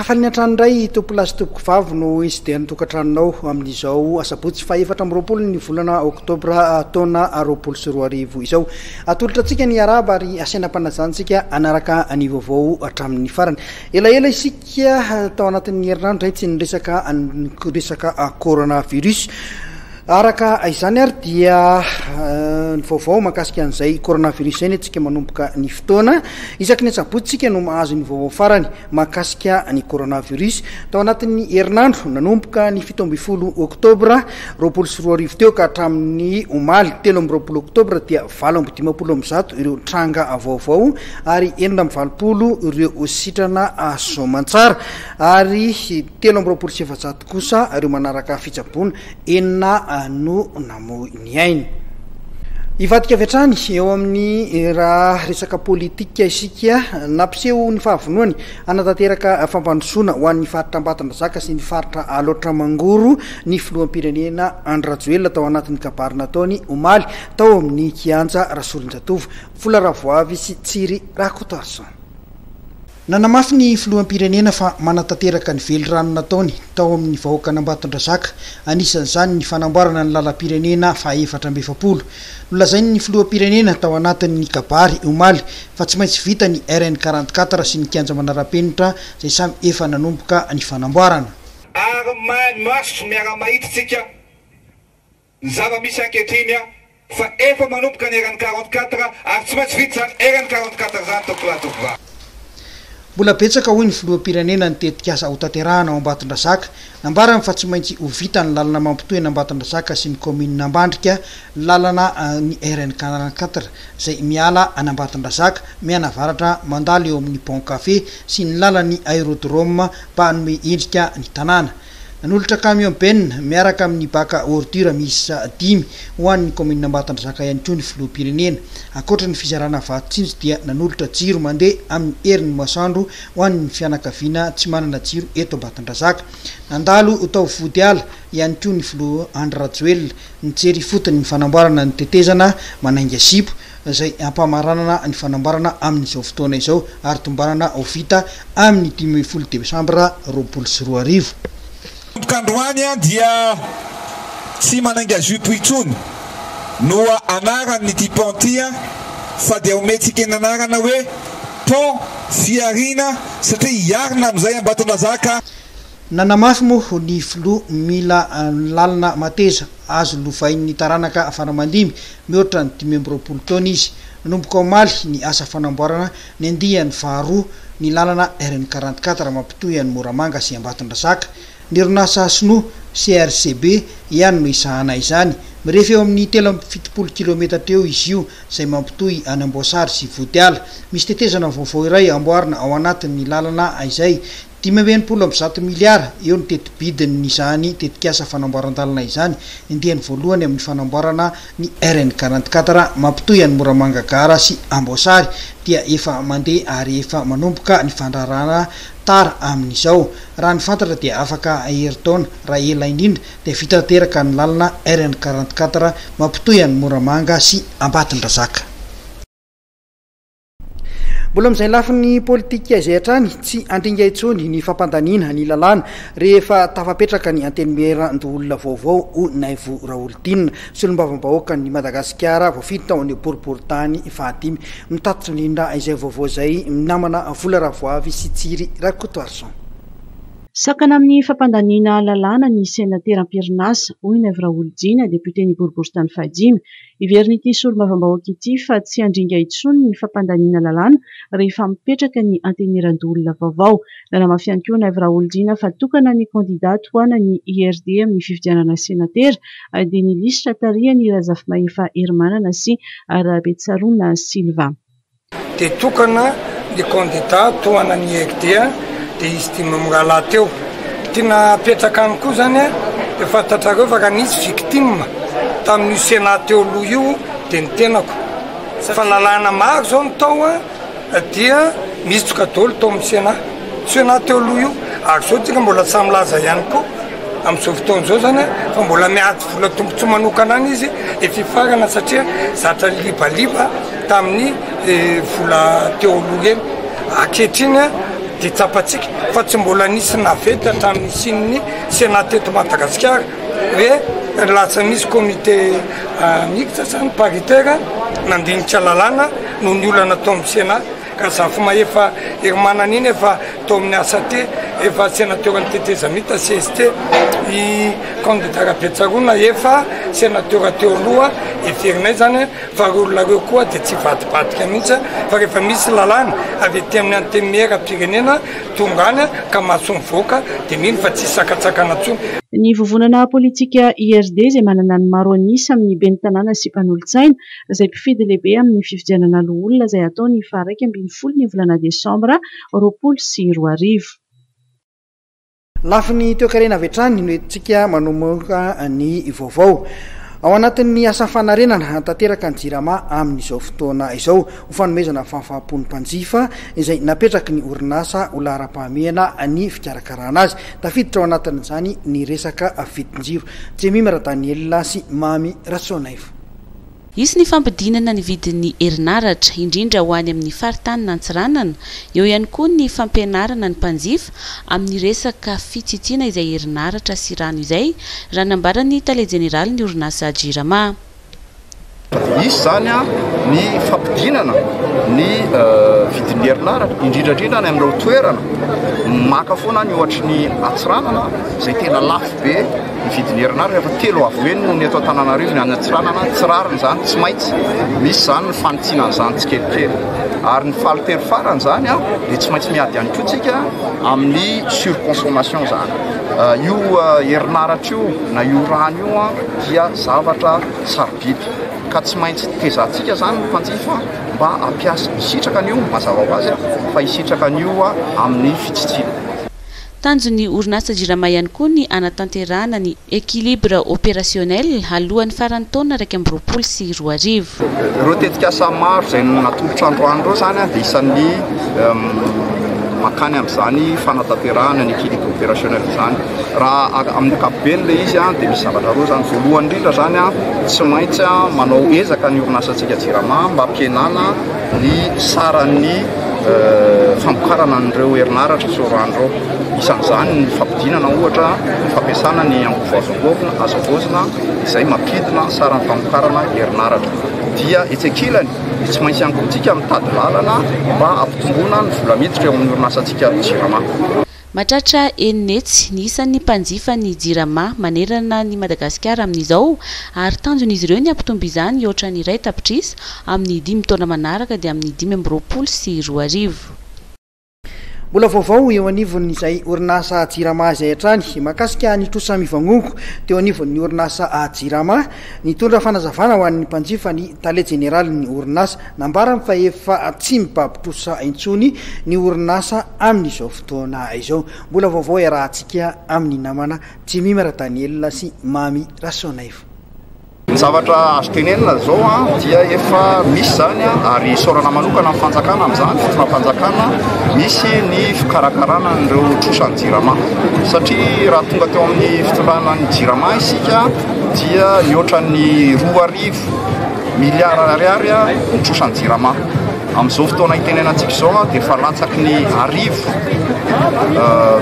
Hafaliana hatrany indray tompolahy sy tompokovavy no hitsidihan'ny tokantranonao amin'izao asabotsy faha 24 ny volana oktobra taona 2020 izao. Atolotra antsika ny arahaba ary asaina am-panajantsika hanaraka ny vaovao hatramin'ny farany. Elaela isika tao anatin'ny herinandro izay tsy niresaka ny resaka coronavirus. Araka izany ary dia ny vaovao mahakasika an'izay coronavirus izay ny antsika manomboka ny fotoana. Isaky ny asabotsy isika no mahazo ny vaovao farany mahakasika ny coronavirus. Tao anatin'ny herinandro nanomboka ny 17 oktobra 2020 teo ka hatramin'ny omaly 23 oktobra dia 158 ireo tranga vaovao ary 86 ireo sitrana soamantsara ary 423 kosa ireo manaraka fitsaboana. Enina no namoy ny ainy. Hivadika avy hatrany eo amin'ny raha resaka politika isika. Nampiseho ny fahavonoany hanatanteraka fampandrosoana ho an'ny faritra Ambatondrazaka sy ny faritra Alaotra Mangoro ny filoham-pirenena Andry Rajoelina tao anatin'ny kabary nataony omaly tao amin'ny kianja Rasolonjatovo. Vola Ravoavy sy Tsiry Rakotoarison. Nanamafy ny filoham-pirenena fa manatanteraka ny velirano nataony tao amin'ny vahoakan'Ambatondrazaka, anisan'izany ny fanamboarana ny lalam-pirenena faha 44. Nolazain'ny filoham-pirenena tao anatin'ny kabary omaly fa tsy maintsy vita ny RN 44 sy ny kianja manara-penitra izay samy efa nanomboka ny fanamboarana. Ary maso miara-mahita isika Ny zava-misy ankehitriny fa efa manomboka ny RN 44 ary tsy maintsy vita izany RN 44 izany tompokolahy tompovavy. Mbola betsaka hoy ny filoham-pirenena ny tetikasa hotanterahana ao Ambatondrazaka. Nambarany fa tsy maintsy ho vita ny lalana mampitohy an'Ambatondrazaka sy ny kaominina Ambandrika, lalana ny RN 44 izay miala an'Ambatondrazaka mianavaratra mandalo eo amin'ny Bon Café sy ny lalan'ny Aerodrome mba hanome endrika ny tanàna. Nanolotra camion benne miaraka amin'ny bac à ordure miisa dimy ho an'ny kaominina Ambatondrazaka ihany koa ny filoham-pirenena. Ankoatra ny fizarana vato tsinjo dia nanolotra jiro mandeha amin'ny herin'ny masoandro ho an'ny fianakaviana tsy manana jiro eto Ambatondrazaka. Nandalo tao Vodiala ihany koa ny filoha Andry Rajoelina nijery ifotony ny fanamboarana ny tetezana Manainga Zipo izay ampamaranana ny fanamboarana amin'izao fotoana izao ary tombanana ho vita amin'ny 15 desambra 2020. Manomboka androany dia tsy manainga jupe intsony no anaran'ity pont ity fa dia omentsika ny anarana hoe pont Fihariana satria hiarina amin'izay Ambatondrazaka. Nanamafy moa ny filoha mila lalana mateza azo lovain'ny taranaka faramandimby mihoatra ny 25 taona izy. Nanomboka omaly ny asa fanamboarana ny andiany faharoa ny lalana RN 44 mampitohy an'i Moramanga sy Ambatondrazaka. Ny orinasa sinoa CRCB ihany no hisahana izany. Mirefy eo amin'ny 73 kilometatra eo izy io izay mampitohy an'Amboasary sy Vodiala. Misy tetezana vaovao iray amboarina ao anatin'ny lalana izay. 165 miliara eo ny teti-bidin'izany tetikasa fanamboaran-dalana izany, andiany voalohany amin'ny fanamboarana ny RN 44 mampitohy an'i Moramanga Gara sy Amboasary dia efa mandeha ary efa manomboka ny fandraharahana tara amin'izao. Raha ny fantatra dia afaka herintaona raha ela indrindra dia vita tanteraka ny lalana RN 44 mampitohy an'i Moramanga sy Ambatondrazaka. Mbola amin'izay lafiny politika izay hatrany, tsy handringa intsony ny fampandaniana ny lalàna rehefa tafapetraka ny Antenimierandoholona vaovao, hoy Naivo Raholdina, solombavambahoakan'i Madagasikara voafidy tao amin'ny boriborintany fahadimy. Mitatitra indrindra izay vaovao izay ny namana Vola Ravoavy sy Tsiry Rakotoarison. Sakana amin'ny fampandaniana lalàna ny senatera am-perinasa, hoy Naivo Raholdina, depioten'ny boriborintany fahadimy. Heverin'ity solombavambahoaka ity fa tsy handringa intsony ny fampandaniana lalàna rehefa mipetraka ny Antenimierandoholona vaovao. Nanamafy ihany koa Naivo Raholdina fa tokana ny kandidà tohanan'ny IRD amin'ny fifidianana senatera dia ny lisitra tarihan'i Razafimahefa Herimanana sy Rabetsaroana Sylvain. Dia tokana ny kandida tohanan'ny IRD dia izy dimy mirahalahy teo. Tiana apetraka any koa zany dia fantatrareo fa raha nisy victime tamin'io Sénat teo aloha io dia ny tenako. Fa lalàna maro zao ny tao dia misitsoka daholo tao amin'ny Sénat. Sénat teo aloha io ary zao tsika mbola samy milaza ihany koa amin'izao fotoana izao zany fa mbola miady vola tombontsoa manokana any izy efa hifarana satria zatra libaliba tamin'ny vola teo aloha ireny. Ankehitriny. dia tsapantsika fa tsy mbola nisy navette hatramin'ny nisian'ny Sénat teto Madagasikara hoe lasa nisy comité mixte zany paritaire nandinika lalàna noho ny olana tao amin'ny Sénat ka Zafimahefa Herimanana iny efa tao amin'ny ACT, efa senateran'ny tetezamita, cst, i candidat Rabetsaroana efa senatera teo aloha, heverinay zany fa reo olona reo koa dia tsy hivadibadika mihitsy fa rehefa misy lalàna avy aty amin'ny antenimieram-pirenena tonga any ka mahasoa mivoaka dia mino fa tsy hisy sakantsakana intsony. Ny vovonana politika IRD izay manana ny maro an'isa amin'ny ben'ny tanàna sy mpanolotsaina izay mpifidy lehibe amin'ny fifidianana loholona izay hatao ny faha 11 ny volana desambra 2020. Lafiny toekarena avy hatrany no entintsika manomboka ny vaovao. Ao anatin'ny asa fanarenana tanteraka ny Jirama amin'izao fotoana izao ho fanomezana fahafaham-po ny mpanjifa izay napetraky ny orinasa ho laharam-pahamehana ny fikarakarana azy. Tafiditra ao anatin'izany ny resaka vidin-jiro. Jemima Radanielina sy Mamy Rasoanaivo. Hisy ny fampidinana ny vidin'ny herinaratra, indrindra ho any amin'ny faritanin'Antsiranana. Eo ihany koa ny fampianarana ny mpanjifa amin'ny resaka fitsitsiana izay herinaratra sy rano izay, raha nambaran'ny tale jeneralin'ny orinasa Jirama. Hisy izany ny fampidinana ny vidin'ny herinaratra, indrindra indrindra any amin'ireo toerana maka foana ny ohatry ny Antsiranana izay tena lafo be. Ny vidin'ny herinaratra efa telo avo heny noho ny eto Antananarivo ny any Antsiranana, tsy rariny izany, tsy maintsy misy izany ny fanitsiana an'izany tsikelikely. Ary ny fahatelo farany izany dia tsy maintsy miady ihany koa tsika amin'ny surconsommation izany. Io herinaratra io na io rano io dia zavatra sarobidy ka tsy maintsy tezantsika izany ny mpanjifa mba hampiasa, hisitraka an'io mazava ho azy fa hisitraka an'io amin'ny fitsitsiana. Tanjon'ny orinasa Jirama ihany koa ny hanatanterahana ny équilibre opérationnel alohan'ny faran'ny taona 2021. Ireo tetikasa maro izay natolotra androany ireo izany dia isan'ny mankany amin'izany fanatanterahana ny équilibre opérationnel izany. Raha amin'ny ankapobeny ilay izy dia misy zavatra roa izany. Voalohany indrindra izany, tsy maintsy manao ezaka ny orinasantsika Jirama mba hampihenana ny saran'ny famokarana an'ireo herinaratra sy rano ireo. Isan'izany ny fampidinana ohatra ny fampiasana ny angovo azo angovina, azo avaozina izay mampidina ny saran'ny famokarana herinaratra. Dia etsy ankilany, tsy maintsy ihany koa isika mitady lalana mba hampitomboana ny vola miditra eo amin'ny orinasantsika Jirama. Mahatratra enina hetsy ny isan'ny mpanjifa ny Jirama manerana an'i Madagasikara amin'izao ary tanjon'izy ireo ny hampitombo izany hihoatra ny iray tapitrisa amin'ny dimy taona manaraka dia amin'ny 2025. Mbola vaovao eo anivon'izay orinasa Jirama izay hatrany mahakasika ny trosa mivangongo teo anivon'ny orinasa Jirama. Nitondra fanazavana ho an'ny mpanjifa ny tale jeneralin'ny orinasa. Nambarany fa efa tsy mibaby trosa intsony ny orinasa amin'izao fotoana izao. Mbola vaovao iarahantsika amin'ny namana Jemima Radanielina sy Mamy Rasoanaivo. Ny zavatra azo tenenina izao dia efa misy izany ary isaorana manokana ny fanjakana amin'izany, fitondram-panjakana, misy ny fikarakarana an'ireo trosan'ny Jirama. Satria raha tonga teo amin'ny fitondrana ny Jirama isika dia nihoatra ny 2000 Miliara ariary ny trosan'ny Jirama. Amin'izao fotoana itenenantsika izao dia efa latsaky ny arivo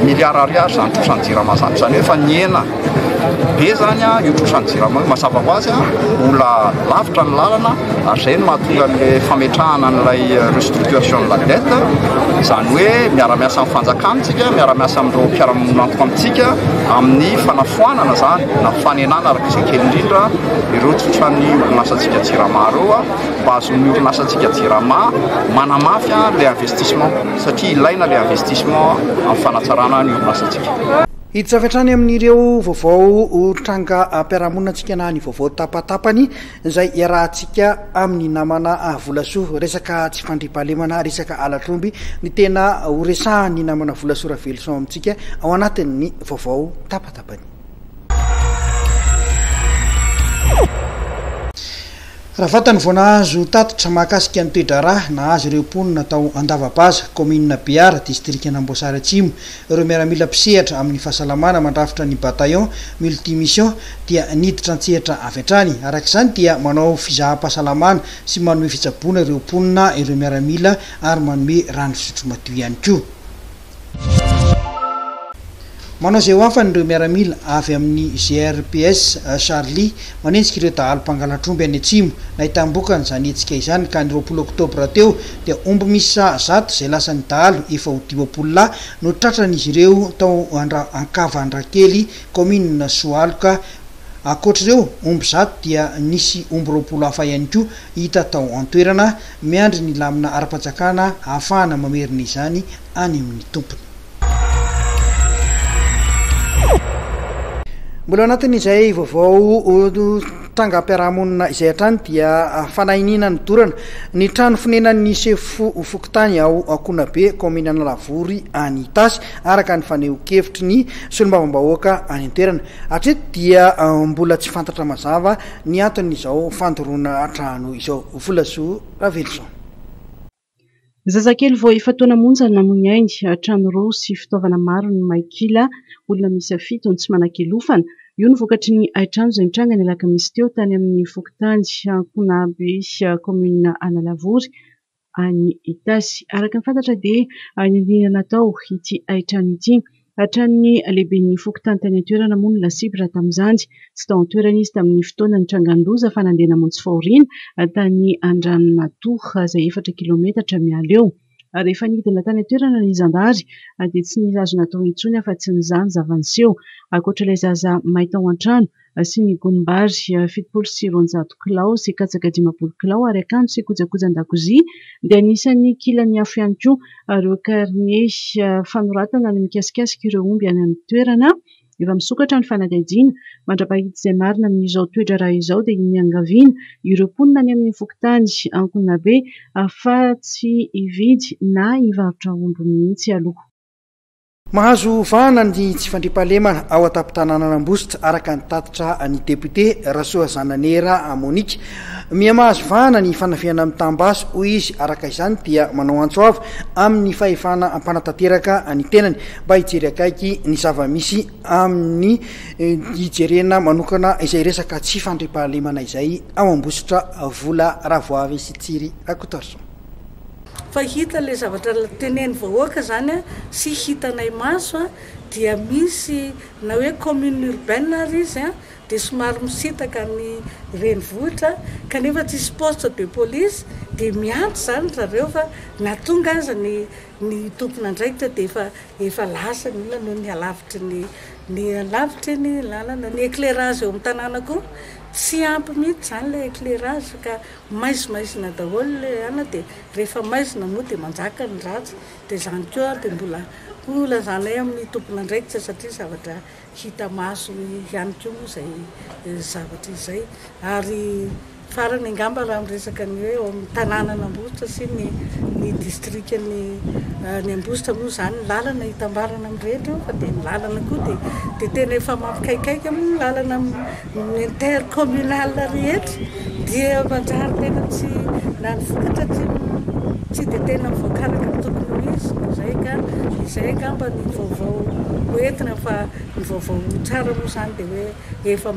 miliara ariary izany trosan'ny Jirama izany. Izany hoe efa nihena be izany io trosan'ny Jirama io. Mazava ho azy mbola lavitra ny lalana ary izay no mahatonga an'ilay fametrahana an'ilay restructuration de la dette. Izany hoe miara-miasa amin'ny fanjakana isika, miara-miasa amin'ireo mpiara-miombon'antoka amintsika amin'ny fanafoanana izany na fanenana araka izay kely indrindra ireo tsotran'ny orinasantsika Jirama ireo mba hahazoan'ny orinasantsika Jirama manamafy ilay investissement satria ilaina ilay investissement amin'ny fanatsarana ny orinasantsika. Hiditra avy hatrany amin'ireo vaovao trangam-piarahamonina antsika na ny vaovao tapatapany izay iarahantsika amin'ny namana Volasoa. Resaka tsy fandriampahalemana, resaka halatr'omby ny tena horesahan'ny namana Volasoa Raveloson amintsika ao anatin'ny vaovao tapatapany. Raha vantany vao nahazo tatitra mahakasika ny toe-draharaha nahazo ireo mponina tao Andavabaza, kaominina Behara, distrikan'Amboasary Atsimo, ireo miaramila mpisehatra amin'ny fahasalamana mandrafitra ny bataillon multi-mission dia niditra an-tsehatra avy hatrany. Araka izany dia manao fizaham-pahasalamana sy manome fitsaboana ireo mponina ireo miaramila ary manome rano fisotro madio ihany koa. Manao izay ho afany ireo miaramila avy amin'ny GRPS Charlie manenjika ireo dahalo mpangalatr'omby any atsimo. Nahitam-bokany izany hetsika izany ka ny 20 oktobra teo dia omby miisa 100 izay lasan'ny dahalo efa ho 50 lahy no tratran'izy ireo tao Ankavandrakely, kaominina Soaloka. Ankoatr'ireo omby 100 dia nisy omby 20 hafa ihany koa hita tao an-toerana. Miandry ny lamina ara-panjakana ahafahana mamerina izany any amin'ny tompony. Mbola ao anatin'izay vaovao trangam-piarahamonina izay hatrany dia fanahiniana nodorana ny trano fonenan'ny sefo fokontany ao Ankonabe, kaominina Analavory any Itasy, araka ny fanehoan-kevitry ny solombavambahoaka any an-toerana. Hatreto dia mbola tsy fantatra mazava ny anton'izao fandoroana trano izao. Volasoa Raveloson. Zazakely vao efa-taona monja no namoy ny ainy, trano roa sy fitaovana maro no may kila, olona miisa fito no tsy manan-kialofana. Io no vokatry ny hain-trano izay nitranga ny alakamisy teo tany amin'ny fokontany Ankonabe, kaominina Analavory, any Itasy. Araka ny fantatra dia niniana natao ity hain-trano ity. Hatramin'ny lehiben'ny fokontany tany an-toerana moa no lasibatra tamin'izany. Tsy tao an-toerana izy tamin'ny fotoana nitrangan-doza fa nandeha namonjy fahoriana tany Andranonatoha izay efatra kilaometatra miala eo. Rehefa nidina tany an-toerana ny zandary dia tsy nisy azo natao intsony afa-tsy nizaha ny zava-niseho. Ankoatra ilay zaza may tao an-trano sy ny gonim-bary 270 kilao sy katsaka 50 kilao ary akanjo sy kojakojan-dakozia dia anisan'ny kilan'ny afo ihany koa ireo karne fanoratana ny mikasikasika ireo omby any amin'ny toerana. Efa misokatra ny fanadihadiana mandra-pahita izay marina amin'izao toe-draharaha izao dia niangaviana ireo mponina any amin'ny fokontany Ankonabe fa tsy hividy na hivarotra omby mihitsy aloha. Mahazo vahana ny tsy fandriampahalemana ao an-tampon-tanànan'Ambositra, araka ny tatitra ny depiote Rasoazananera Monique. Miha-mahazo vahana ny fanafihana mitam-basy, hoy izy. Araka izany dia manao antso avo amin'ny fahefana mpanatanteraka ny tenany mba hijery akaiky ny zava-misy amin'ny hijerena manokana izay resaka tsy fandriampahalemana izay ao Ambositra. Vola Ravoavy sy Tsiry Rakotoarison. Fa hita ilay zavatra tenen'ny vahoaka izany sy hitanay maso dia misy na hoe commune urbaine ary izy dia somary misintaka ny renivohitra kanefa tsisy poste de police dia miantso izany ry zareo fa na tonga aza ny ny tompon'andraikitra dia efa efa lasa ny olona noho ny halavitry ny ny halavitry ny lalana. Ny éclairage eo amin'ny tanàna koa tsy ampy mihitsy izany ilay éclairage ka Maizimaizina daholo le ana de rehefa maizina moa de manjaka ny ratsy de zany koa de mbola ho lazanay amin'ny tompon'andraikitra satria zavatra hita maso ihany koa moa zay zavatra izay ary farany angamba raha miresaka ny hoe ao amin'ny tanànan'Ambositra sy ny ny distrikan'ny ny Ambositra moa zany ny lalana hitambarana amin'ny rehetra io fa de ny lalana koa de de tena efa mampikaikaika moa ny lalana Ny intercommunal rehetra dia manjary tena tsy na ny vokatra tsy tsy dia tena mivoaka araka ny tokony ho izy. Izay ka izay angamba ny vaovao ho entina fa ny vaovao tsara moa izany dia hoe efa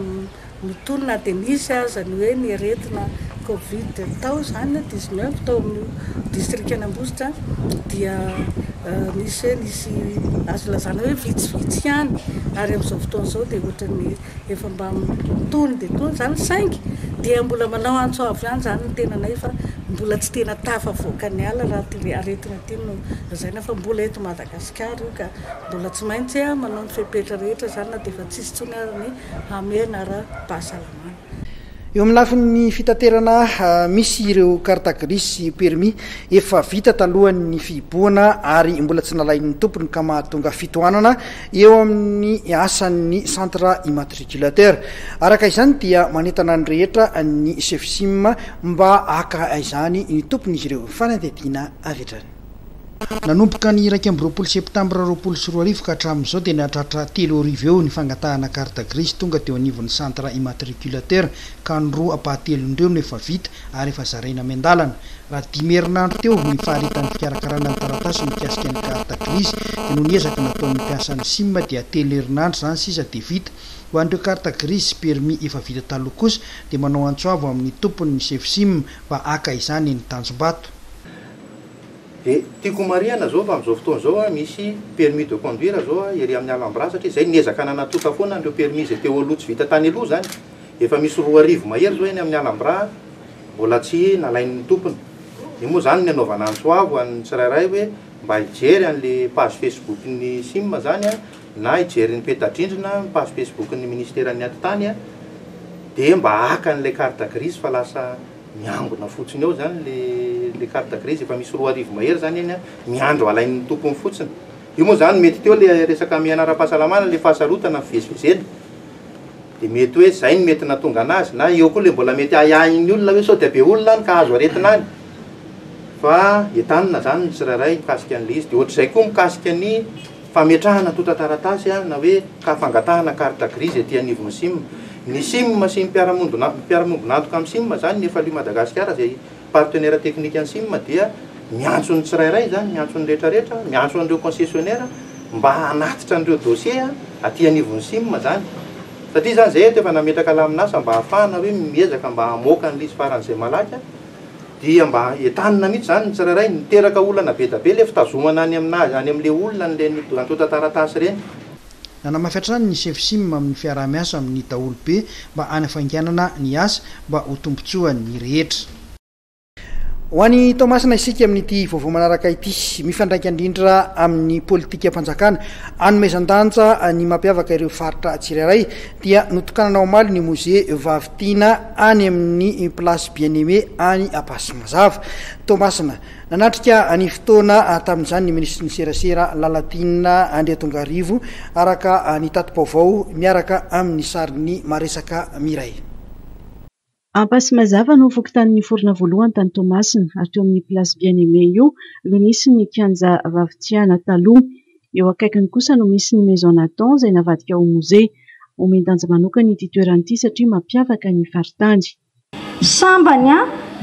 mitony na dia nisy aza ny hoe ny aretina covid tao izany 19 tao amin'io distrikan'Ambositra dia nisy hoe nisy azo lazana hoe vitsivitsy ihany ary amin'izao fotoana izao dia ohatran'ny Efa mba tony dia tony izany saingy dia mbola manao antso avo ihany izany ny tenanay fa mbola tsy tena tafavoaka ny ala raha ity aretina ity no lazaina fa mbola eto Madagasikara io ka mbola tsy maintsy manao ny fepetra rehetra izany na dia efa tsisy intsony ary ny hamehana ara-pahasalamana. Eo amin'ny lafiny fitaterana, misy ireo carte grise sy permis efa vita talohan'ny fihibohana ary mbola tsy nalain'ny tompony ka mahatonga fitohanana eo amin'ny asan'ny centre immatriculateur. Araka izany dia manentana ny rehetra ny Sefsim mba haka izany ny tompony izy ireo. Fanadihadiana avy hatrany. Nanomboka ny 21 septambra 2020 ka hatramin'izao dia nahatratra 3000 eo ny fangatahana carte grise tonga teo anivon'ny centre immatriculateur ka ny roa ampahatelon'ireo no efa vita ary efa zaraina miandalana. Raha dimy herinandro teo ny faharetan'ny fikarakarana ny taratasy mikasika ny carte grise dia noho ny ezaka nataon'ny mpiasan'ny sim dia telo herinandro izany sisa dia vita. Ho an'ireo carte grise sy permis efa vita taloha kosa dia manao antso avo amin'ny tompony ny sefo sim mba haka izany eny Tanjombato. Dia tiako homarihana izao fa amin'izao fotoana izao misy permis de conduire izao ery amin'ny Alhambra satria izay niezaka nanatonta foana an'ireo permis izay teo aloha tsy vita tany aloha izany. Efa misy 2000 mahery izao eny amin'ny Alhambra mbola tsy nalain'ny tompony. Io moa izany ny anaovana antso avo an'ny tsirairay hoe mba hijery an'le page Facebook-n'ny sim izany na hijery ny peta-drindrina, ny page Facebook-n'ny ministeran'ny atitany dia mba haka an'ilay carte grise fa lasa miangona fotsiny eo zany le le carte grise, efa misy 2000 mahery zany eny an, miandry alain'ny tompony fotsiny. Io moa zany mety teo le resaka miaina ara-pahasalamana, le fahasarotana fivezivezena, de mety hoe zay no mety nahatonga anazy, na eo koa le mbola mety ahiahin'ny olona hoe sao dia be olona any ka azo aretina any, fa entanina zany ny tsirairay mikasika an'le izy, de ohatr'izay koa mikasika ny Fametrahana antontan-taratasy na hoe ka fangatahana carte grise ety anivon'ny sim. Ny sim sy ny mpiara-miombon'antoka amin'ny sim izany, ny Efalu Madagasikara izay partenaire technique ny sim dia miantso ny tsirairay izany, miantso ny rehetrarehetra, miantso an'ireo concessionnaire mba hanatitra an'ireo dossier aty anivon'ny sim izany. Satria izany izay eto efa nametraka lamin'asa mba hahafahana hoe miezaka mba hamoaka an'ilay izy faran'izay malaky. Dia mba entanina mihitsy izany ny tsirairay, miteraka olana be da be ilay fitazomana any amin'azy, any amin'ilay olona an'ireny antontan-taratasy ireny. Nanamafy hatrany ny Sefsim amin'ny fiaraha-miasa amin'ny daholobe mba hanafainganana ny asa mba ho tombontsoan'ny rehetra. Ho any Toamasina isika amin'ity vaovao manaraka ity. Mifandraika indrindra amin'ny politikam-panjakana anomezan-danja ny mampiavaka ireo faritra tsirairay dia notokanana omaly ny Mozea Vavitiana any amin'ny Place Bien Aimé any Ampasimazava, Toamasina. Nanatrika ny fotoana tamin'izany ny minisitry ny serasera Lalatiana Andriatongarivo, araka ny tati-baovao miaraka amin'ny sarin'ny Maresaka Miray. Ampasimazava no fokontany niforona voalohany tany Toamasina ary teo amin'ny Place Bien Aimé io no nisy ny kianja Vavitiana taloha. Eo akaikiny kosa no misy ny Maison Nathan izay navadika ho mozea. Omen-danja manokana ity toerana ity satria mampiavaka ny faritany. Sambany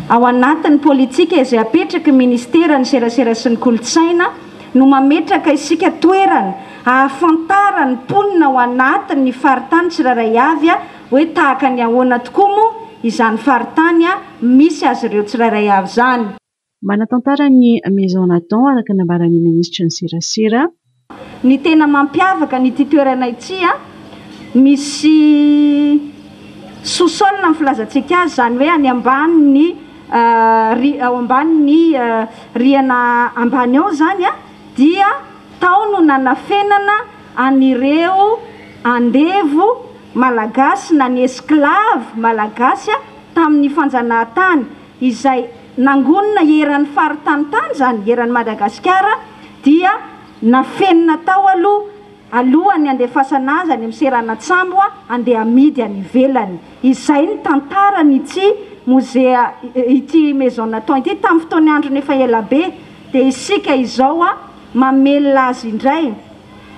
ao anatin'ny politika izay apetraky ny Ministeran'ny Serasera sy ny Kolontsaina no mametraka isika toerana ahafantaran'ny mponina ao anatin'ny faritany tsirairay avy hoe tahaka ny ahoana tokoa moa izany faritany misy azy ireo tsirairay avy izany. Manatantara ny Maison Nathan araka ny nambaran'ny minisitry ny serasera. Ny tena mampiavaka an'ity toerana ity, misy sous-sol ny filazantsika azy, izany hoe any ambanin'ny ao ambanin'ny rihana ambany ao izany dia tao no nanafenana an'ireo andevo malagasy na ny esclave malagasy tamin'ny fanjanahantany. izay nangonina eran'ny faritany tany izany, eran'i Madagasikara, dia nafenina tao aloha, alohan'ny handefasana azy any amin'ny seranan-tsambo handeha hamidy any ivelany. Izay ny tantaran'ity mozea, ity Maison Nathan ity, tamin'ny fotoan'ny androny efa elabe, dia isika izao mamelona azy indray.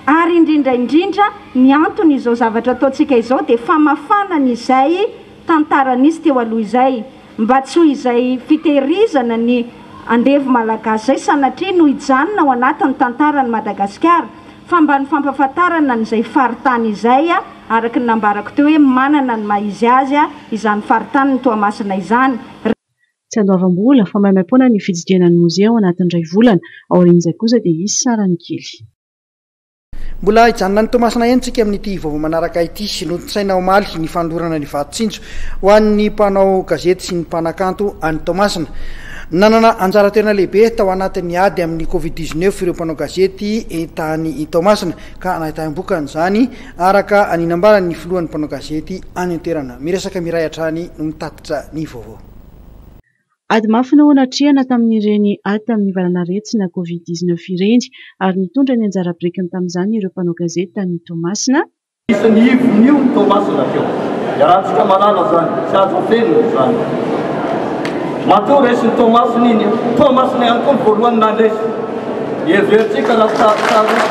Ary indrindra indrindra, ny antony izao zavatra ataontsika izao dia famafana ny izay tantara nisy teo aloha izay, mba tsy ho izay fitehirizana ny andevo malagasy izay sanatria no hijanona ao anatin'ny tantaran'i Madagasikara, fa mba ny fampahafantarana an'izay faritany izay, araka ny nambarako teo hoe manana ny maha izy azy izany faritanin'i Toamasina izany. Tsy andoavam-bola fa maimaimpoana ny fitsidihana ny mozea ao anatin'ny iray volana, aorian'izay kosa dia hisy sarany kely. Mbola hijanona any Toamasina ihany tsika amin'ity vaovao manaraka ity. Notontosaina omaly ny fanolorana ny vato tsinjo ho an'ny mpanao gazety sy ny mpanakanto any Toamasina. Nanana anjara toerana lehibe tao anatin'ny ady amin'ny Covid dix-neuf ireo mpanao gazety tany Toamasina ka nahitam-bokany izany araka ny nambaran'ny filohan'ny mpanao gazety any an-toerana. Miresaka Miray hatrany no mitatitra ny vaovao. Ady mafy no natrehana tamin'ireny ady tamin'ny valanaretina Covid dix-neuf ireny ary nitondra ny anjara birikiny tamin'izany ireo mpanao gazety tany Toamasina. Isan'ny ivon'io ny Toamasina teo. Iarahantsika mahalala izany, tsy azo afenina izany. Matoa resin'i Toamasina iny, Toamasina ihany koa ny voalohany nandresy. Heverintsika raha sarotsarotro.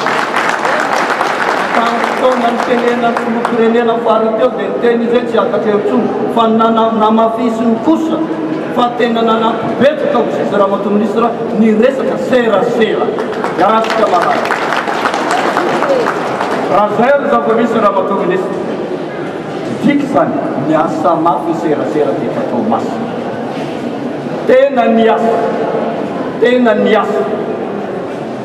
Tamin'ny fotoana nitenenan'ny filoham-pirenena farany teo dia niteny izy hoe tsy hiakatra eo intsony fa ny namafisiny kosa fa tena nanampy betsaka hoy izy Ramatoa Minisitra ny resaka serasera. Iarahantsika mahalala. Raha izay no zava-misy Ramatoa Minisitra, midika izany miasa mafy ny serasera teto Toamasina. Tena niasa. Tena niasa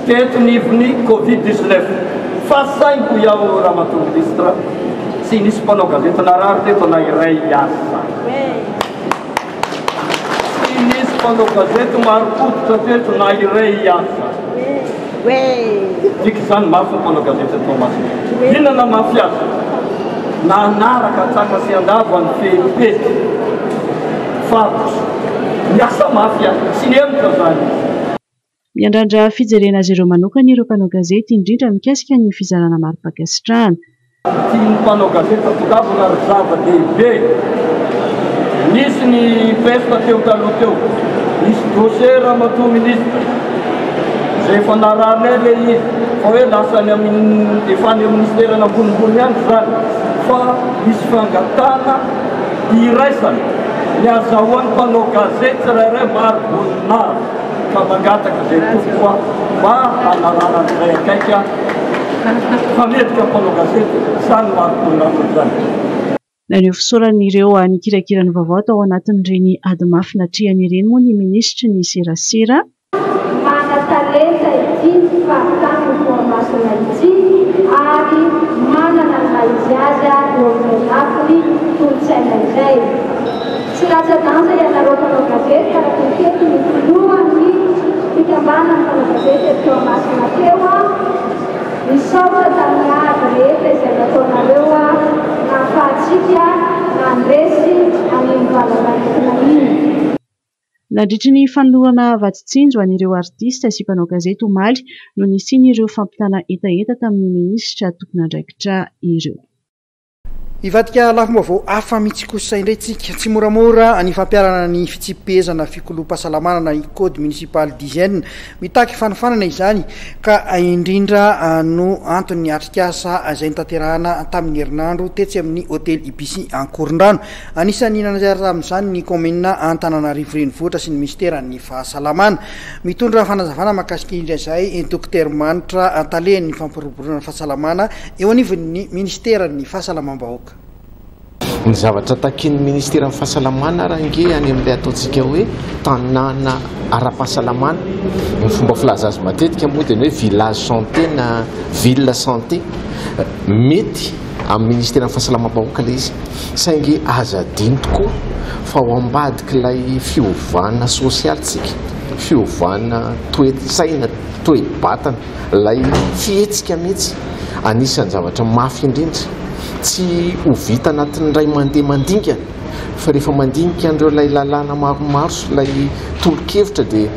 teto nivon'ny Covid 19 fa saingy hoy aho Ramatoa Ministre tsy nisy mpanao gazety narary teto na iray aza. Tsy nisy mpanao gazety marim-pototra teto na iray aza. Midika izany mafy ny mpanao gazety eto Toamasina. Inona no mafy azy? Nanaraka antsaka sy andava ny fepetra fa niasa mafy aho. Tsy nihemotra izany izy. Miandrandra fijerena azy ireo manokana ireo mpanao gazety, indrindra mikasika ny fizarana mari-pankasitrahana. Tian'ny mpanao gazety hatongavana ary zava-dehibe. Nisy ny peste teo taloha teo. Nisy dossier ramatoa ministre izay efa narahanay ilay izy fa hoe lasa any amin'ny efa any amin'ny ministerana ambonimbony any izany fa misy fangatahana iraisana ny azahoan'ny mpanao gazety tsirairay mari-boninahitra. ka mangataka izay tompoko aho mba hanarahana an'izay akaiky ahy fa mendrika mpanao gazety izany mari-boninahitra izany. Naneho fisaorana ireo nikirakira ny vaovao tao anatin'ireny ady mafy natrehany ireny moa ny minisitry ny serasera. Manan-talenta ity faritanin'i Toamasina ity ary manana ny maha izy azy eo amin'izay lafiny kolontsaina izay. Tsy latsa-danja ianareo mpanao gazety araka ny tenin'ny filohan'ny fikambanan'ny mpanao gazety eto Toamasina teo aho. Misaotra tamin'ny ady rehetra izay nataonareo nahafahantsika nandresy an'iny valanaretina iny. Nandritry ny fanolorana vatsy tsinjo an'ireo artista sy mpanao gazety omaly no nisian'ireo fampitana hetaheta tamin'ny minisitra tompon'andraikitra ireo. Hivadika lafim-baovao hafa mihitsy kosa indray tsika. Tsy moramora ny fampiharana ny fitsipi-pehezana fikoloam-pahasalamana na ny code municipal d'hygiène. Mitaky fanofanana izany ka indrindra no anton'ny atrikasa izay notanterahana tamin'ny herinandro tetsy amin'ny hotely Ibis Ankorondrano. Anisan'ny nanazara tamin'izany ny kaominina Antananarivo Renivohitra sy ny minisiteran'ny fahasalamana. Mitondra fanazavana mahakasika indrindra izay Dokotera Manitra, talen'ny fampiroboroana ny fahasalamana eo anivon'ny minisiteran'ny fahasalamam-bahoaka. Ny zavatra takian'ny ministeran'ny fahasalamana ary ange any amin'ilay ataontsika hoe tanàna ara-pahasalamana, ny fomba filaza azy matetika moa dia ny hoe village santé na ville santé, mety amin'ny ministeran'ny fahasalamam-bahoaka ilay izy saingy aza adino tokoa fa ao ambadik'ilay fiovana sosialy tsika, fiovana toe-tsaina, toe-batana, ilay fihetsika mihitsy anisan'ny zavatra mafy indrindra tsy ho vita anatin'ny iray mandeha mandingana fa rehefa mandinika an'ireo ilay lalàna maromaro sy ilay tolo-kevitra dia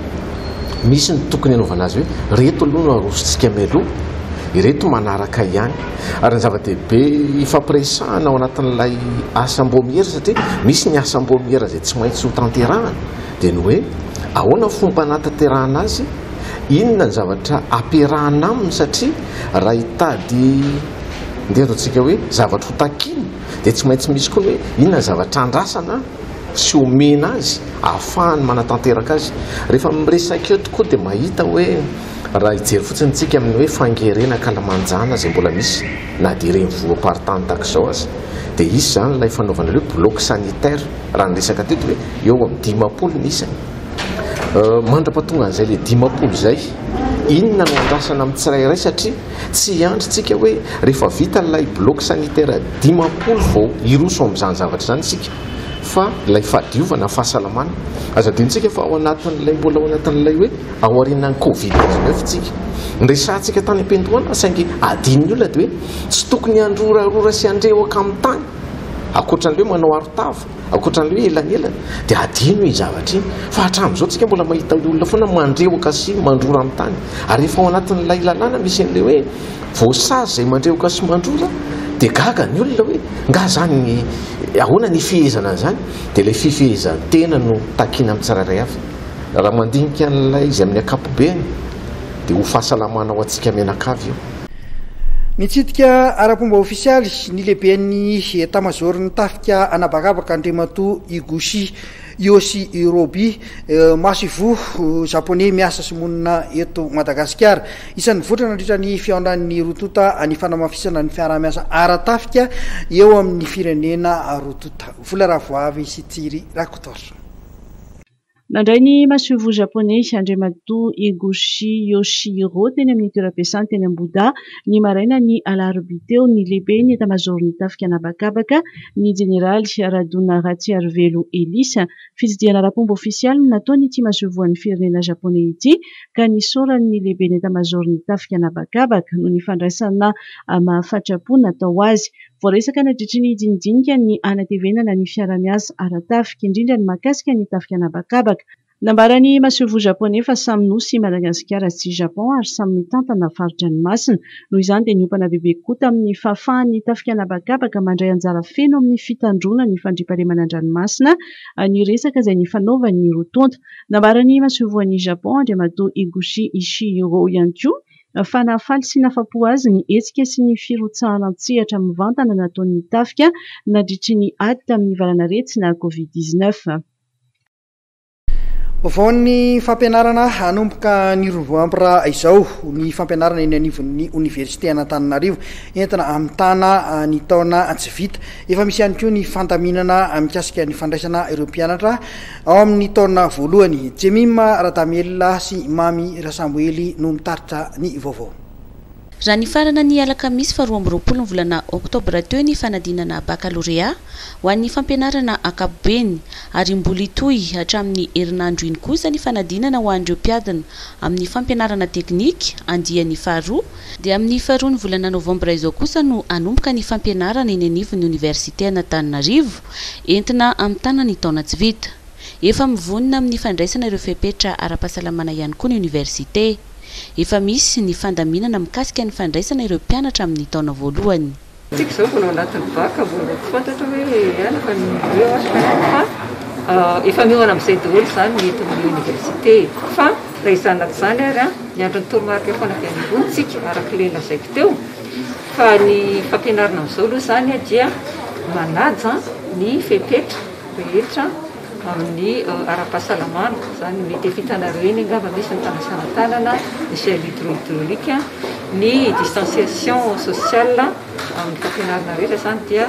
misy ny tokony hanaovana azy hoe ireto aloha no arosontsika mialoha, ireto manaraka ihany. Ary ny zava-dehibe ifampiresahana ao anatin'ilay asam-baomiera satria misy ny asam-baomiera izay tsy maintsy ho tanterahana dia ny hoe ahoana ny fomba hanatanterahana azy, inona ny zavatra ampiarahana aminy satria raha hitady ndeha ataontsika hoe zavatra ho takiana dia tsy maintsy misy koa ny hoe inona ny zavatra andrasana sy omena azy ahafahany manatanteraka azy. Rehefa miresaka eo tokoa dia mahita hoe raha hijery fotsiny isika amin'ny hoe fangerena ankalamanjana izay mbola misy na dia ireny voam-paritany tahaka izao aza dia hisy izany ilay fanaovana ilay hoe bloc sanitaire raha ny resaka teto hoe eo amin'ny 50 ny isany. Mandra-pahatonga an'izay ilay 50 izay, inona no andrasana amin'ny tsirairay satria tsy hiandry tsika hoe rehefa vita ilay bloc sanitaire 50 vao hiroso amin'izany zavatra izany isika fa ilay fahadiovana, fahasalamana. Aza adinontsika fa ao anatin'ilay mbola ao anatin'ilay hoe aorianan'ny covid 19 tsika. Niresahantsika tany am-piandohana saingy adinon'ny olona dia hoe tsy tokony handrorarora sy handrehoka amin'ny tany ankoatran'ilay hoe manao arotava. Ankoatra ny hoe elanelana dia adino iny zavatra iny fa hatramin'izao tsika mbola mahita olona foana mandrehoka sy mandrora amin'ny tany ary efa ao anatin'ilay lalàna misy an'ilay hoe voasazy izay mandrehoka sy mandrora dia gaga ny olona hoe nga zany ny ahoana ny fihezana an'izany dia ilay fifehezan-tena no takiana amin'ny tsirairay avy raha mandinika an'ilay izy amin'ny ankapobeny dia ho fahasalamana ho antsika mianakavy io. Nitsidika ara-pomba ofisialy ny lehiben'ny etamazaoron'ny tafika anabakabaka Andriamatoa Higuchi Yoshirobi, masoivoho japoney miasa sy monina eto Madagasikara. Isan'ny nivoitra nandritra ny fihaonan'ny roa tonta ny fanamafisana ny fiaraha-miasa ara-tafika eo amin'ny firenena roa tonta. Vola Ravoavy sy Tsiry Rakotoarison. Nandray ny masoivoho Japoney, Andriamatoa Higuchi Yoshihiro, teny amin'ny toeram-piasany teny Ambohidahy, ny marainan'ny alarobia teo, ny lehiben'ny etamazaoron'ny tafika an'habakabaka, ny jeneraly Radona Ratsiarivelo Elisa. Fitsidihana ara-pomba ofisialy no nataon'ity masoivohon'ny firenena Japoney ity, ka nisaoran'ny lehiben'ny etamazaoron'ny tafika an'habakabaka noho ny fandraisana mahafatrapo natao azy. Voaresaka nandritry ny dinidinika ny hanatevenana ny fiarahamiasa ara-tafika, indrindra ny mahakasika ny tafika an'habakabaka. Nambaran'ny masoivoho Japoney fa samy nosy i Madagasikara sy Japon ary samy mitantana fari-dranomasina. Noho izany dia niompana bebe kokoa tamin'ny fahafahan'ny tafika an'habakabaka mandray anjara feno amin'ny fitandroana ny fandriampahalemana an-dranomasina ny resaka izay nifanaovan'ny roa tonta. Nambaran'ny masoivohon'i Japon, Andriamatoa Higuchi Ishihiro ihany koa fa nahafaly sy nahafapo azy ny hetsika sy ny firotsahana an-tsehatra mivantana nataon'ny tafika nandritry ny ady tamin'ny valanaretina Covid 19. Vaovaon'ny fampianarana, hanomboka ny roa novambra izao ny fampianarana eny anivon'ny oniversite an'Antananarivo entina hamitana ny taona tsy vita. Efa misy ihany koa ny fandaminana mikasika ny fandraisana ireo mpianatra Ao amin'ny taona voalohany, Jemima Radamielina sy Mamy Rasamoely no mitaritra ny vaovao. Raha nifarana ny alakamisy faha 22 ny volana oktobra teo ny fanadinana bakalorea ho an'ny fampianarana ankapobeny ary mbola hitohy hatramin'ny herinandro iny kosa ny fanadinana ho an'ireo mpiadina amin'ny fampianarana teknika andiany faharoa dia amin'ny faharoa ny volana novambra izao kosa no hanomboka ny fampianarana eny anivon'ny oniversiten'Antananarivo Entina hamitana ny taona tsy vita. Efa mivonona amin'ny fandraisana ireo fepetra ara-pahasalamana ihany koa ny oniversite. Efa misy ny fandaminana mikasika ny fandraisana ireo mpianatra amin'ny taona voalohany. Tsika izao mbola ao anatin'ny bac mbola tsy fantatra hoe ihany fa ny eo fa efa miomana amin'izay daholo izany ny eto amin'ny oniversite fa raha izany na tsy izany ary an, miandry ny toromarika foana avy any ambony tsika araka ilay lazaiko teo. Fa ny fampianarana amin'izao aloha izany dia manaja ny fepetra rehetra amin'ny ara-pahasalamana, izany mety efa hitanareo eny angamba misy ny fanasana tanana, ny gel hydroalcoolique, ny distanciation sociale amin'ny fampianarana rehetra izany dia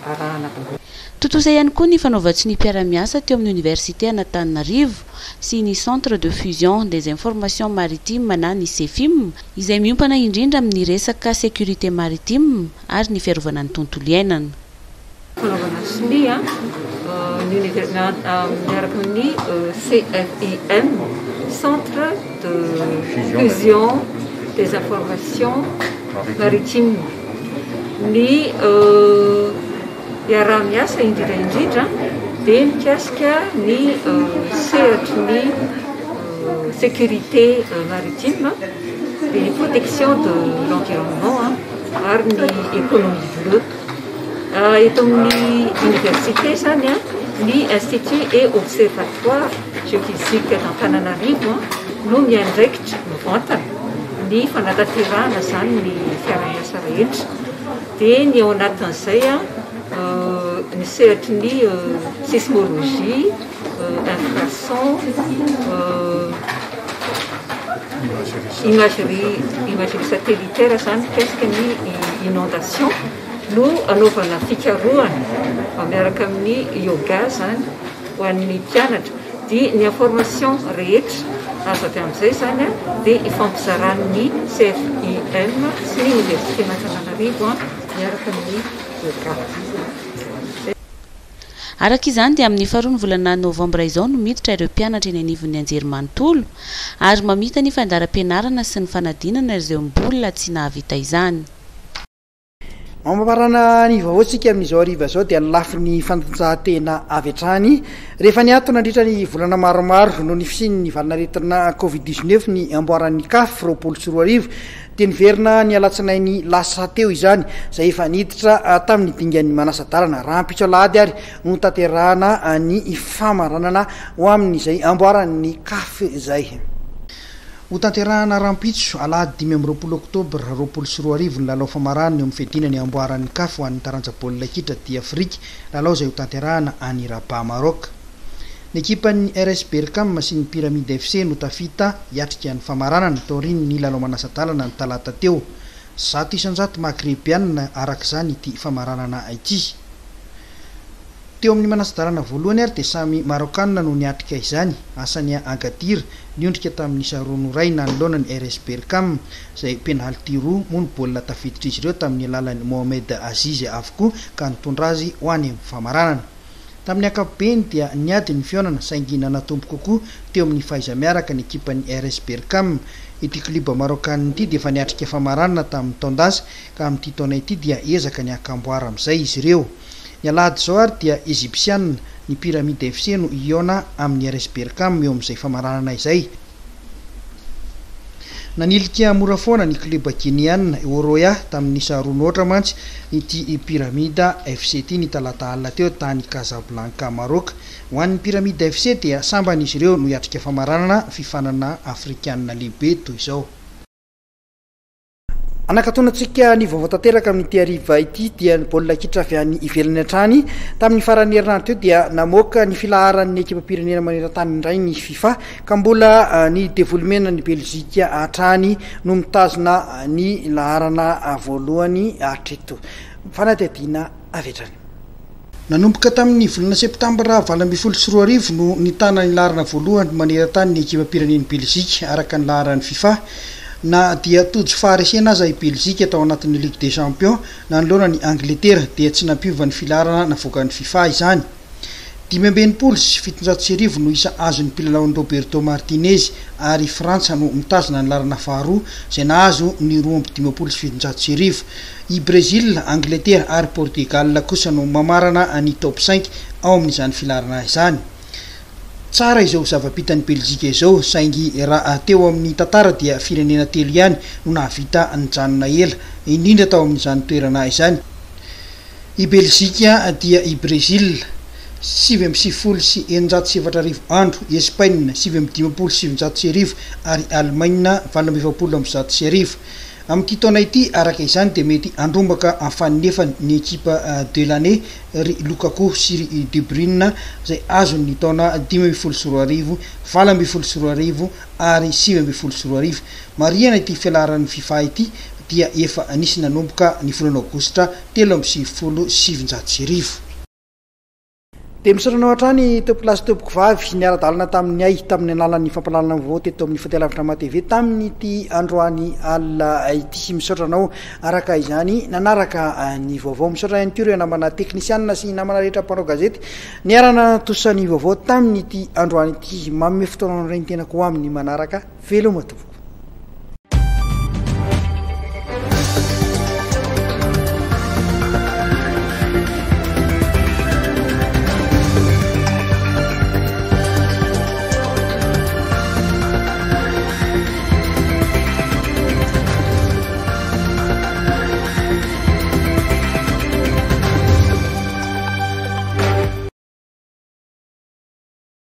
arahana daholo. Tontosa ihany koa ny fanaovan-tsonia mpiara-miasa teo amin'ny Oniversite an'Antananarivo sy ny Centre de Fusion des Informations Maritimes na ny CEFIM, izay miompana indrindra amin'ny resaka sécurité maritime ary ny fiarovana ny tontolo iainana. Fanaovana sonia ny miaraka amin'ny CFIM, Centre de Fusion des Informations Maritimes, ny iaraha-miasa indrindra indrindra dia mikasika ny sehatry ny sécurité maritime dia ny protection de l'environnement ary ny économie bleue. Eto amin'ny université izany ny institut et observatoire géophysique d'Antananarivo no miandraikitra mivantana ny fanatanterahana izany ny fiaraha-miasa rehetra. Dia ny ao anatin'izay ny sehatry ny sismologie, infrason, imagerie, imagerie satellitaire izany mikasika ny inondation no anaovana fikarohana miaraka amin'ny yoga izany ho an'ny mpianatra. Dia ny information rehetra azo avy amin'izay izany dia ifampizaran'ny CFIM sy ny Oniversiten'Antananarivo miaraka amin'ny yoga. Araka izany dia amin'ny faharoa ny volana novambra izao no miditra ireo mpianatra eny anivon'ny anjerimanontolo ary mamita ny fandaharam-pianarana sy ny fanadinana ireo mbola tsy nahavita izany. Mamarana ny vaovaontsika amin'izao hariva izao dia ny lafiny fanatanjahantena avy hatrany. Rehefa niato nandritra ny volana maromaro noho ny fisian'ny valanaretina Covid 19 ny amboaran'ny CAF 2020 dia niverina ny alatsinainy lasa teo izany, izay efa niditra tamin'ny dingan'ny manasa-dalana. Rahampitso alahady ary no tanterahana ny famaranana ho amin'izay amboaran'ny CAF izay. Hotanterahana rahampitso, alahady 25 oktobra 2020 ny lalao famaranana eo amin'ny fiadiana ny amboaran'ny Caf ho an'ny taranja baolina kitra aty Afrika, lalao izay hotanterahana any Rabat Maroc. Ny ekipan'ny RS Berkane sy ny Pyramide FC no tafita hiatrika ny famaranana, taorian'ny lalao manasa-dalana ny talata teo. 100% Maghrebiana araka izany ity famaranana ity. Teo amin'ny manasa-dalana voalohany ary dia samy Maraokanina no niatrika izany, Hassania Agadir, niondrika tamin'ny isa roa no iray nanoloana ny RS Berkane, izay penalty roa moa ny baolina tafiditr'izy ireo tamin'ny alalan'i Mohamed Aziz avokoa ka nitondra azy ho any amin'ny famaranana. Tamin'ny ankapobeny dia niady ny fihaonana saingy nanatombo kokoa teo amin'ny fahaiza-miaraka ny ekipan'ny RS Berkane. Ity klioba maraokanina ity dia efa niatrika famaranana tamin'ny taon-dasa ka amin'ity taona ity dia ezaka ny haka amboara amin'izay izy ireo. Ny alahady izao ary dia Egyptiana, ny Pyramide FC no hihaona amin'ny RS Berkane eo amin'izay famaranana izay. Nanilika mora foana ny klioba Gineana, Horoya, tamin'ny isa roa noatra mantsy ity Pyramide FC ity ny talata alina teo tany Casablanca, Maroc. Ho an'ny Pyramide FC dia sambany izy ireo no hiatrika famaranana fifanana afrikanina lehibe toy izao. Anakatonantsika ny vaovao tanteraka amin'ity hariva ity dia ny baolina kitra avy any ivelany hatrany. Tamin'ny faran'ny herinandro teo dia namoaka ny filaharan'ny ekipam-pirenena maneran-tany indray ny FIFA ka mbola ah, ny devoly menan'i Belzika hatrany no mitazona ny laharana voalohany hatreto. Fanadihadiana avy hatrany. Nanomboka tamin'ny volana septambra 2018 no nitana ny laharana voalohany maneran-tany ny ekipam-pirenen'i Belzika, araka ny laharan'ny Fifa. Na dia tojo faharesena aza i Belzika tao anatin'ny Ligue des Champions nanoloana ny Angletera dia tsy nampiova ny filaharana navoakan'ny Fifa izany. 1765 no isa azon'ny mpilalaon'i Roberto Martinez ary Frantsa no mitazona ny laharana faharoa izay nahazo ny 1752. I Brezila, Angletera ary Portugal kosa no mamarana ny top cinq ao amin'izany filaharana izany. Tsara izao zava-bitan'i Belzika izao saingy raha teo amin'ny tantara dia firenena telo ihany no nahavita nijanona ela indrindra tao amin'izany toerana izany. I Belzika dia i Brezila, 1699 andro, i Espaina, 1959, ary Alemaina, 1148. Amin'ity taona ity, araka izany, dia mety handrombaka afaninefany ny ekipa de l'année ry Lukaku sy ry De Bruyne izay azony ny taona 2015, 2018 ary 2019. Marihana ity filaharan'ny Fifa ity dia efa nisy nanomboka ny volana aogositra 1993. Dia misaotra anao hatrany tompolahy sy tompokovavy niara-dalana tamin'ny ay tamin'ny alalan'ny fampahalalana vaovao teto amin'ny Fahitalavitra Ama TV tamin'ity androany alina ity. Misaotra anao araka izany nanaraka ny vaovao. Misaotra ihany koa ireo namana teknisianina sy namana rehetra mpanao gazety niara-nanatontosa ny vaovao tamin'ity androany ity. Manome fotoana anao indray ny tenako ho amin'ny manaraka. Veloma tompoko.